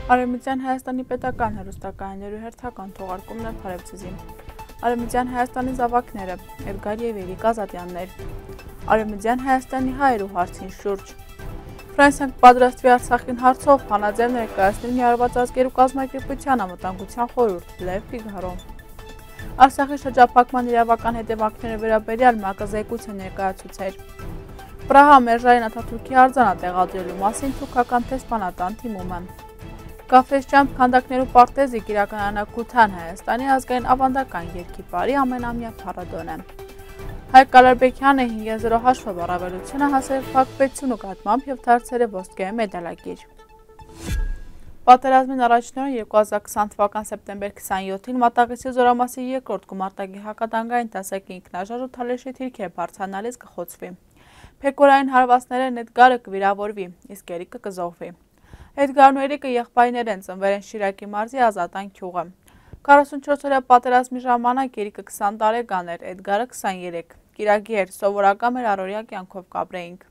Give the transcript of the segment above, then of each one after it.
Արևմտյան Հայաստանի պետական հեռուստակայաններու հերթական թողարկումն է Փարեվցիզին։ Արևմտյան Հայաստանի զավակները, Էդգար և Երիկ Ազատյաններ, Արևմտյան Հայաստանի հայերու հարցին շուրջ։ Ֆրանսիան պատրաստվի Արցախին հարցով հանձնաժողով ներկայացնել Միավորված ազգերու կազմակերպության անվտանգության խորհուրդ Լև Ֆիգարո։ Արցախի շրջափակման իրավական հետևանքները վերաբերյալ ՄԱԿ-ը զեկույց ներկայացուցեր։ Պրահա Մերժարին Աթաթուրքի արձանը տեղադրելու մասին թուրքական դեսպանատան թիմում է։ Կաֆեսճամբ քանդակներու պարտեզի կիրականանա Քութան Հայաստանի ազգային ավանդական երգի բարի ամենամյա փառատոնը։ Հայկ Կալարբեկյանը 5-0 հաշվով առավելությունը հասել փակվեցունու կատմամբ և դարձել է ոսկե մեդալակիր։ Պատերազմին առաջին օրը 2020 թվական սեպտեմբեր 27-ին Մատաղիսի զորամասի երկրորդ գումարտակի հակատանկային դասակի ինքնաշարժ ու թալեշի թիրքեր բարձրանալիս կխոցվի։ Փեկորային հարվածներն Էդգարը կվիրավորվի, իսկ Երիկը կզոհվի։ Էդգարն ու Երիկը եղբայրներ են, ծնվել են Շիրակի մարզի Ազատան գյուղը։ 44-օրյա պատերազմի ժամանակ Երիկը 20 տարեկան էր, Էդգարը 23։ Կիրակի էր, սովորական մեր առօրյա կյանքով կապրեինք։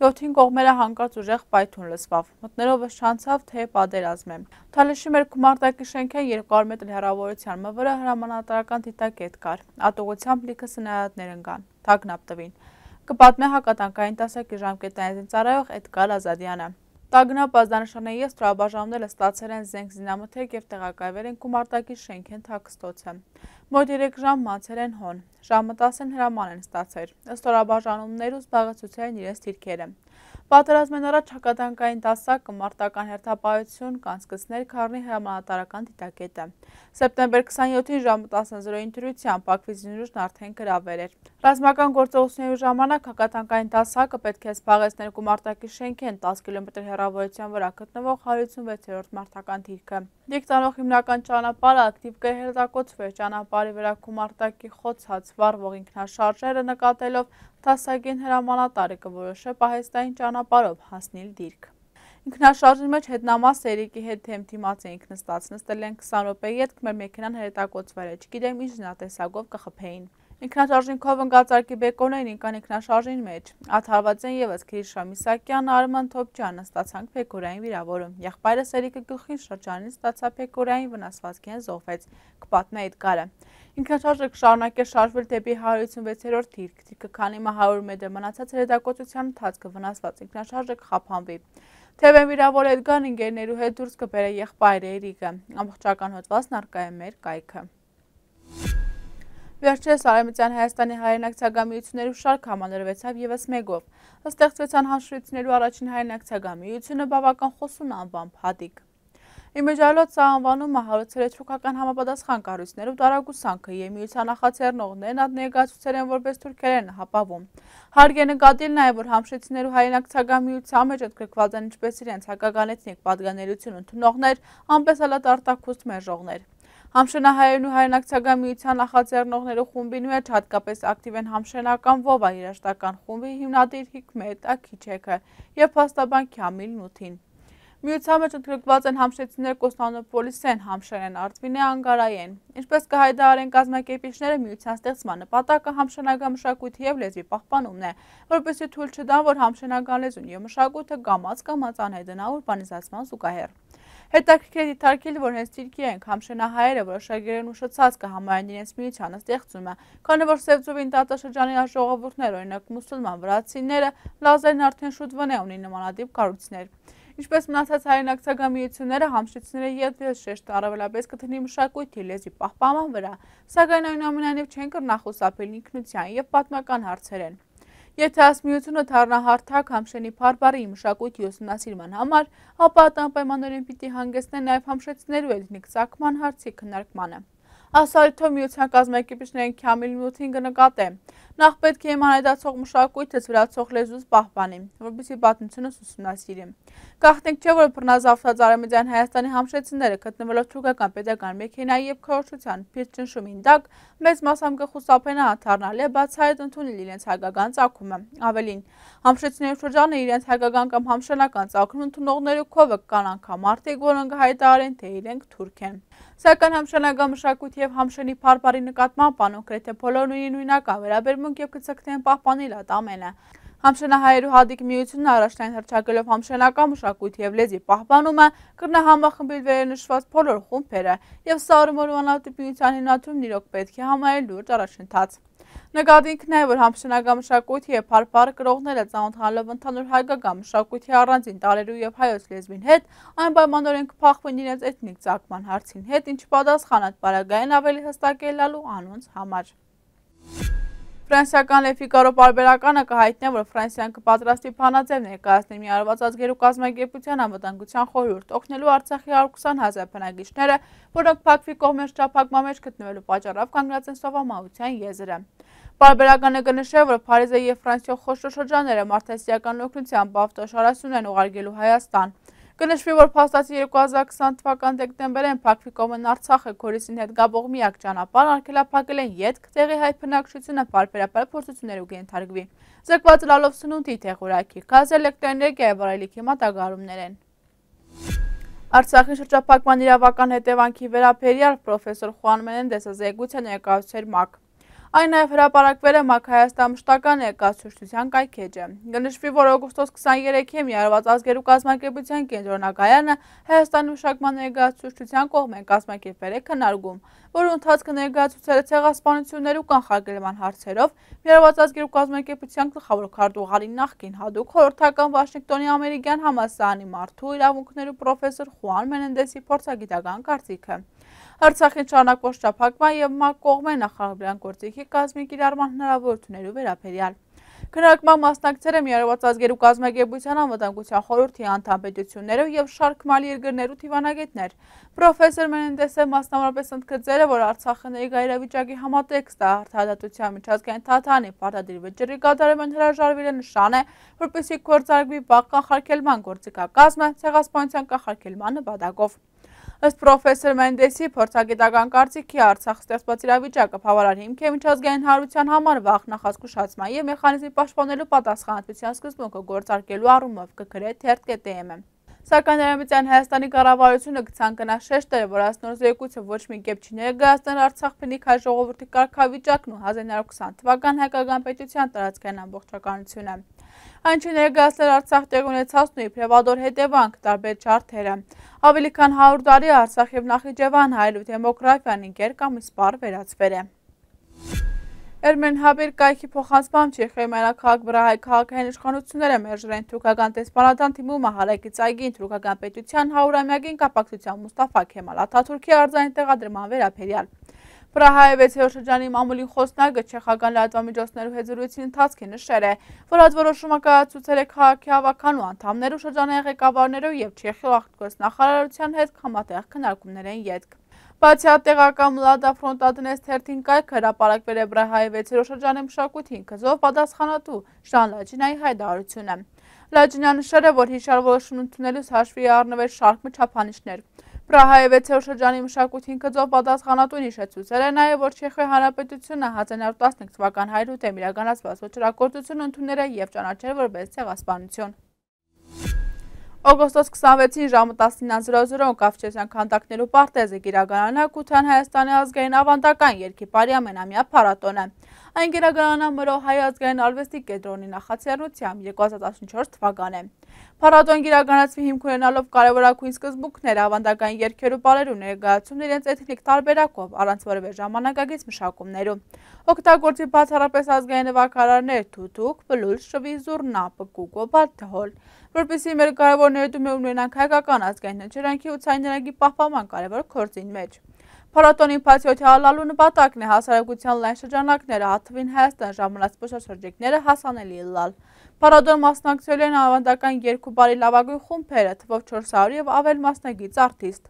7-ին կողմերը հանկարծ ուժեղ պայթուն լսվավ, մտնելով շանցավ, թե պատերազմ է։ Թալեշի մեր գումարտակի շենքեն 200 մետր հեռավորության մվրը հրամանատարական դիտակետ կար, ատուղությամբ լիքը սնայատներ ընկան, թագնապ տվին։ Կպատմե հակատանկային դասակի ժամկետային ծառայող Էդգար Ազատյանը։ Տագնապ ազդանշանների ստորաբաժանումները ստացել են զենք զինամթերք և տեղակայվել են գումարտակի շենքեն թաքստոցը։ Մոտ 3 ժամ մացել են հոն, ժամը 10-ին հրաման են ստացել, ստորաբաժանումներու զբաղեցուցել են իրենց դիրքերը։ Պատերազմեն առաջ հակատանկային դասակը մարտական հերթապահություն կանցկացներ Քարնի հրամանատարական դիտակետը։ Սեպտեմբեր 27-ին ժամը 10:00-ին դրությամբ Բաքվի զինուժն արդեն գրավել էր։ Ռազմական գործողությունների ժամանակ հակատանկային դասակը պետք է զբաղեցներ գումարտակի շենքեն 10 կիլոմետր հեռավորության վրա գտնվող 156-րդ մարտական դիրքը։ Դիրք տանող հիմնական ճանապարհը ակտիվ կհերթակոծվեր, ճանապարհի վրա գումարտակի խոցած վառվող ինքնաշարժերը նկատելով դասակին հրամանատարը կորոշե պահեստային ճանապարհով հասնել դիրք։ Ինքնաշարժի մեջ հետնամասը Երիկի հետ թեմթիմաց էինք նստած, նստել են 20 րոպեի հետ մեր մեքենան հերետակոծվել է, չգիտեմ ինչ զինատեսակով կխփեին։ Ինքնաշարժինքով ընկածարկի բեկորներին ինքան ինքնաշարժին մեջ, աթարված են ևս Քրիշա Միսակյան, Արման Թոփչյան ստացանք փեկորային վիրավորում, եղբայրս Երիկը գլխին շրջանին ստացա փեկորային վնասվածքին զոհվեց, կպատմե Էդգարը։ Ինքնաշարժը կշարունակե շարժվել դեպի 156-րդ դիրք, դիրքը քանի 100 մետր մնացած հրետակոծության ընթացքը վնասված ինքնաշարժը կխափանվի։ Թեև վիրավոր Էդգարն ընկերներու հետ դուրս կբերե եղբայրը Երիկը, ամբողջական հոդվածն առկա է մեր կայքը։ Վերջերս Արևմտյան Հայաստանի հայրենակցագամիություններու շարք համալրվեցավ ևս մեկով։ Ստեղծվեցան հանշրույցներու առաջին հայրենակցագամիությունը բավական խոսուն անվամբ Հատիկ։ Իմիջիալոց սա անվանումը հարուցել է թուրքական համապատասխան կառույցներու տարագուսանքը եւ միության նախաձեռնողներն այդ ներկայացուցել են որպես թուրքերեն հապավում։ Հարկ է նկատել նաեւ, որ համշրույցներու հայրենակցագամիության մեջ ընդգրկված են ինչպես իրենց հակական էթնիկ պատկանելություն ընդունողներ, անպես էլ արտակուստ մերժողներ։ Համշենահայերն ու հայրենակցագամիության նախաձեռնողներու խումբին մեջ հատկապես ակտիվ են համշենական Վովա երաժշտական խումբի հիմնադիր Հիկմետ Աքիչեքը եւ փաստաբան Քամիլ Նութին։ Միության մեջ ընդգրկված են համշեցիներ Կոստանդնուպոլիսեն, Համշերեն, Արտվինե, Անգարայեն։ Ինչպես կհայտարարեն կազմակերպիչները, միության ստեղծման նպատակը համշենական մշակույթի եւ լեզվի պահպանումն է, որպեսզի թույլ չտան, որ համշենական լեզուն եւ մշակույթը գամած անհետանա ուրբանիզացման զուգահեռ։ Հետաքրքիր է դիտարկել, որ հենց դիրքի ենք համշենահայերը որոշակերեն ուշացած կհամարեն իրենց միությանը ստեղծումը, քանի որ Սևծովին տարածաշրջանի ժողովուրդներ, օրինակ մուսուլման վրացիները, լազերն արդեն շուտ վնե ունի նմանատիպ կառույցներ։ Ինչպես մնացած հայրենակցագամիությունները, համշրույցները ետվես շեշտ առավելապես կդնի մշակույթի լեզվի պահպանման վրա, սակայն այնուամենայնիվ չեն կրնախուսափել ինքնության եւ պատմական հարցերեն։ Եթե այս միությունը դառնա հարթակ համշենի փառբարի մշակույթի ուսումնասիրման համար, ապա այդ անպայմանորեն պիտի հանգեցնի նաև համշեցիներու էթնիկ ծագման հարցի քննարկմանը։ Ասարիթով միության կազմակերպիչներին Քամիլ Նութին կնկատե։ Նախ պետք է մանայդացող մշակույթը զվրացող լեզուս պահպանի, որպեսզի պատմությունս ուսումնասիրի։ Գաղտնիք չէ, որ բռնազավթած Արևմտյան Հայաստանի համշեցիները գտնվելով թուրքական պետական մեքենայի եւ քարոզչության փիտ ճնշումին տակ մեծ մասամբ կխուսափեն աթառնալ եւ բացահայտ ընդունել իրենց հայկական ծագումը։ Ավելին, համշեցիներու շրջանը իրենց հայկական կամ համշենական ծագում ընդունողներու քովը կան անգամ մարդիկ, որոնք հայտարարեն, թե իրենք թուրք են։ Սակայն համշենական մշակույթի եւ համշենի փառբարի նկատմամբ կոնկրետ բոլորն ունի նույնական վերաբերմունք եւ կցկտեն պահպանել այդ ամենը։ Համշենահայերու հատիկ միությունը առաջնային հռչակելով համշենական մշակույթի և լեզվի պահպանումը կրնա համախմբել վերնշված բոլոր խումբերը և Սարումորու անհատիկ միության հիմնադրումն իրոք պետք է համարել լուրջ առաջընթաց։ Նկատինք նաև, որ համշենական մշակույթի և փառփառը կրողները ծանոթանալով ընդհանուր հայկական մշակույթի առանձին տարրերու և հայոց լեզվին հետ անպայմանորեն կփոխվեն իրենց էթնիկ ծագման հարցին հետ, ինչը պատասխանատ պարագային ավելի հստակ ելնալու անոնց համար։ Ֆրանսիական Le Figaro պարբերականը կհայտնի, որ Ֆրանսիան կպատրաստվի բանաձև ներկայացնել Միավորված ազգերու կազմակերպության անվտանգության խորհուրդ օգնելու Արցախի 120,000 բնակիչները, որոնք Բաքվի կողմեն շրջափակման մեջ գտնվելու պատճառով կանգնած են սովամահության եզրը։ Պարբերականը կնշե, որ Փարիզը և Ֆրանսիոյ խոշոր շրջանները մարդասիրական օգնությամբ ավտոշարասյուն են ուղարկելու Հայաստան։ Կնշվի, որ փաստացի 2020 թվական դեկտեմբերին Բաքվի կողմեն Արցախը Գորիսին հետ գաբող միակ ճանապարհ արգելափակել են ետք, տեղի հայ բնակչությունը պարբերաբար փորձություններու կենթարկվի։ Զրկված լալով սնունդի տեղորայքի, գազ, էլեկտրոէներգիա և վարելիքի մատակարարումներ են։ Արցախի շրջափակման իրավական հետևանքի վերաբերյալ պրոֆեսոր Խուան Մենենդեսը զեկույց է ներկայացրել ՄԱԿ։ Այն նաև հրապարակվել է ՄԱԿ Հայաստան մշտական ներկայացուցչության կայքէջը։ Կնշվի, որ օգոստոս 23-ի Միավորված ազգերու կազմակերպության կենտրոնակայանը Հայաստանի մշակման ներկայացուցչության կողմեն կազմակերպել է քննարկում, որի ընթացքը ներկայացուցել է ցեղասպանություններու կանխարգելման հարցերով Միավորված ազգերու կազմակերպության գլխավոր քարտուղարի նախկին հատուկ խորհրդական Վաշինգտոնի ամերիկյան համալսարանի մարդու իրավունքներու պրոֆեսոր Խուան Մենենդեսի փորձագիտական կարծիքը։ Արցախին շարունակվող շրջափակման և ՄԱԿ կողմեն նախարարության գործիքի կազմի կիրառման հնարավորություններու վերաբերյալ։ Քննարկման մասնակցել է Միավորված ազգերու կազմակերպության անվտանգության խորհրդի անդամ պետություններով և շարք մալի երկրներու դիվանագետներ։ Պրոֆեսոր Մենենդեսը մասնավորապես ընդգծել է, որ Արցախը ներկա իրավիճակի համատեքստը արդարադատության միջազգային թատրոնի պարտադիր վճռի կատարումն հրաժարվել նշան է, որպեսզի գործարկվի վաղ կանխարգելման գործիքակազմը ցեղասպանության կանխարգելման նպատակով։ Ըստ պրոֆեսոր Մենենդեսի փորձագիտական կարծիքի Արցախ ստեղծված իրավիճակը բավարար հիմք է միջազգային հանրության համար վաղ նախազգուշացման և մեխանիզմի պաշտպանելու պատասխանատվության սկզբունքը գործարկելու առումով կգրե թերթ.am-ը։ Սակայն Արևմտյան Հայաստանի կառավարությունը կցանկանա շեշտել, որ այս նոր զեկույցը ոչ մի կերպ չի ներկայացնել Արցախ բնիկ հայ ժողովրդի կարգավիճակն ու 1920 թվական հայկական պետության տարածքային ամբողջականությունը։ Այն չի ներկայացնել Արցախ տեղ ունեցածն ու իբրև ադոր հետևանք տարբեր ջարդերը։ Ավելի քան 100 տարի Արցախ և Նախիջևան հայելու դեմոգրաֆիան ինքեր կամ իսպառ վերածվել է։ Էրմենհաբիր կայքի փոխանցմամբ Չեխիայի մայրաքաղաք Բրահայի քաղաքային իշխանությունները մերժել են թուրքական դեսպանատան թիմու մահարակից այգին թուրքական պետության 100-ամյակին կապակցությամբ Մուստաֆա Քեմալ Աթաթուրքի արձանին տեղադրման վերաբերյալ։ Բրահայի 6-րդ շրջանի մամուլի խոսնակը չեխական լրատվամիջոցներու հետ զրույցի ընթացքին նշել է, որ այդ որոշումը կայացուցել է քաղաքի հավաքանու անդամներու, շրջանային ղեկավարներու և Չեխիա արտգործնախարարության հետ համատեղ քննարկումներ են ետք։ Բացի այդ, տեղական Մլադա Ֆրոնտադնես թերթին կայքը հրապարակվել է Բրահայի 6-րդ շրջանի մշակույթին գծով պատասխանատու Ժան Լաջինայի հայտարարությունը։ Լաջինյան նշել է, որ հիշյալ որոշում ընդունելուց հաշվի առնվել շարք չափանիշներ։ Բրահայի 6-րդ շրջանի մշակույթին գծով պատասխանատուն հիշեցուցել է նաև, որ Չեխիայի Հանրապետությունը 1915 թվական հայրութեմ իրականացված ոճրագործությունը ընդունել է և ճանաչել որպես ցեղասպանություն։ Օգոստոս 26-ին ժամը 19:00 Կավկասյան քանդակներու պարտեզը կիրականանա Քութան Հայաստանի ազգային ավանդական երգիպարի ամենամյա փառատոնը։ Այն կիրականանա ՄՌՕ Հայ ազգային արվեստի կենտրոնի նախաձեռնությամբ 2014 թվականին։ Փառատոն կիրականացվի հիմք ունենալով կարևորագույն սկզբունքներ ավանդական երգերու բառերու ներկայացումն իրենց էթնիկ տարբերակով առանց որևէ ժամանակակից մշակումներու։ Օգտագործի բացառապես ազգային նվագարարներ թութուկ, բլուր, շվի, զուռնա, պկուկ, բաթհոլ, որպեսզի մեր կարևոր ներդրում ունենանք հայկական ազգային հնչյունքի ու ցայներակի պահպանման կարևոր գործին մեջ։ Փառատոնի բացի հալալու նպատակն է հասարակության լայն շրջանակները, հատվին Հայաստան ժամանած զբոսաշրջիկները հասանելի լալ։ Փառատոն մասնակցելու են ավանդական երգ ու բարի լավագույն խումբերը, թվով 400 և ավել մասնագիծ արտիստ։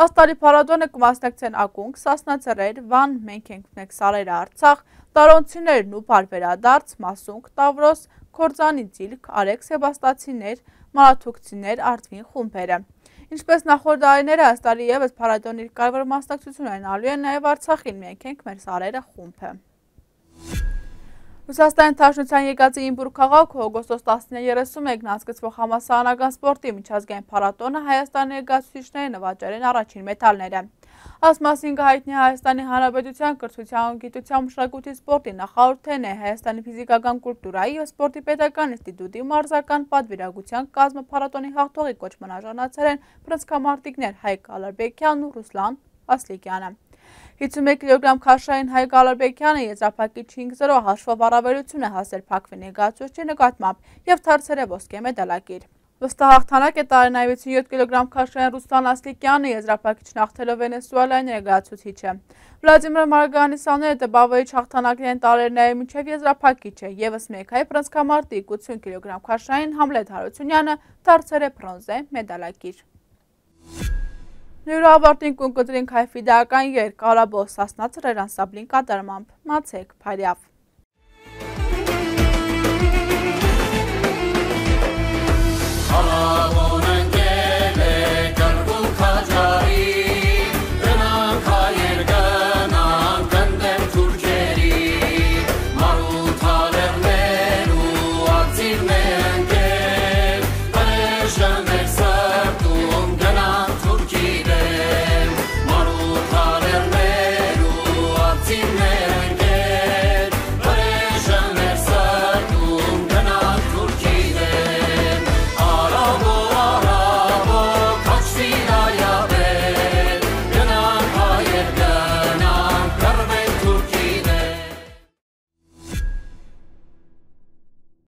Աստարի փառատոնը կմասնակցեն ակունք, Սասնաձեռեր, Վան, Մենք ենք մեկ Սարերը Արցախ, Տարոնցիներն ու Բարբերադարձ, Մասունք, Տավրոս, Քորձանի Ծիլք, Արեգ Սեբաստացիներ, Մարաթուկցիներ, Արտվին խումբերը։ Ինչպես նախորդ տարիները, այս տարի ևս փառատոնի կարևոր մասնակցություն ունենալու է նաև Արցախին Մենք ենք մեր Սարերը խումբը։ Ռուսաստանի Թաշնության եկածի Ինբուր քաղաքում օգոստոս 19:31-ն անցկացվող համալսարանական սպորտի միջազգային փառատոնը Հայաստանի ներկայացուցիչների նվաճել են առաջին մեդալները։ Այս մասին կհայտնի Հայաստանի Հանրապետության կրթության, գիտության, մշակույթի, սպորտի նախարարությունն է Հայաստանի ֆիզիկական կուլտուրայի և սպորտի պետական ինստիտուտի մարզական պատվիրակության կազմը փառատոնի հաղթողի կոչման արժանացել են բռնցքամարտիկներ Հայկ Ալարբեկյանն ու Ռուսլան Ասլիկյանը։ 51 կիլոգրամ քաշային Հայկ Ալարբեկյանը եզրափակիչ 5-0 հաշվով առավելություն է հասել Բաքվի ներկայացուցչի նկատմամբ և դարձել է ոսկե մեդալակիր։ Վստահ հաղթանակ է տարել նաև 57 կիլոգրամ քաշային Ռուսլան Ասլիկյանը եզրափակիչն հաղթելով Վենեսուելայի ներկայացուցիչը։ Վլադիմիր Մարգանիսյանը բավարարիչ հաղթանակներ են տարել նաև մինչև եզրափակիչը, ևս մեկ հայ բռնցքամարտիկ 80 կիլոգրամ քաշային Համլետ Հարությունյանը դարձել է բրոնզե մեդալակիր։ Նույն ավարտին կունկտրինք հայ ֆիդեական երգ «Կարաբոս» Սասնա Ծռեր անսամբլին կատարմամբ։ Մացեք Փարյավ։